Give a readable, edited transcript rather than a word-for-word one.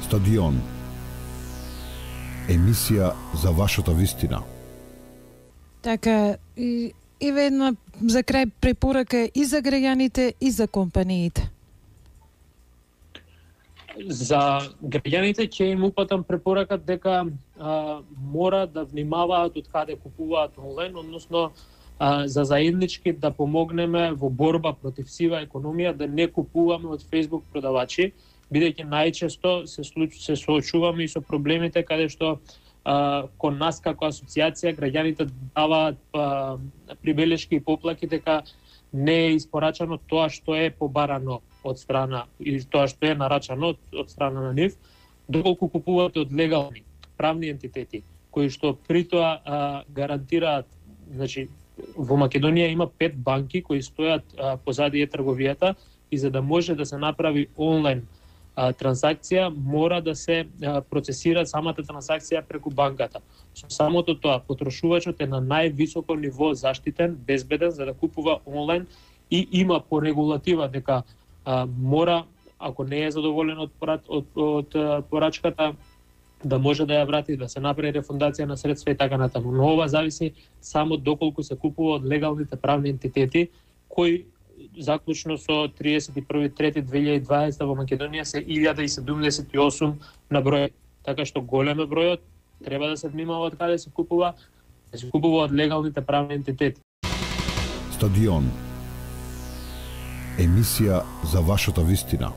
Стадион. Емисија за вашата вистина. Така, и една за крај препорака и за граѓаните и за компаниите. За граѓаните ќе им упатам препорака дека мора да внимаваат од каде купуваат онлайн, односно за заеднички да помогнеме во борба против сива економија, да не купуваме од Facebook продавачи, бидејќи најчесто се соочуваме и со проблемите каде што кон нас како асоциација граѓаните даваат прибелешки и поплаки дека не е испорачано тоа што е побарано од страна и тоа што е нарачано од страна на нив, доколку купуваат од легални правни ентитети кои што при тоа гарантираат, значи во Македонија има 5 банки кои стојат позади трговијата и за да може да се направи онлайн трансакција мора да се процесира самата трансакција преку банката. Со самото тоа потрошувачот е на највисоко ниво заштитен, безбеден за да купува онлайн и има по регулатива дека мора, ако не е задоволен од порачката, да може да ја врати, да се направи рефундација на средства и така натаму. Но ова зависи само доколку се купува од легалните правни ентитети кои заклучно со 31.3.2020 во Македонија се 1078 на број. Така што голем е бројот, треба да се внимава од каде се купува, да се купува од легалните правни ентитети. Стадион. Емисија за вашата вистина.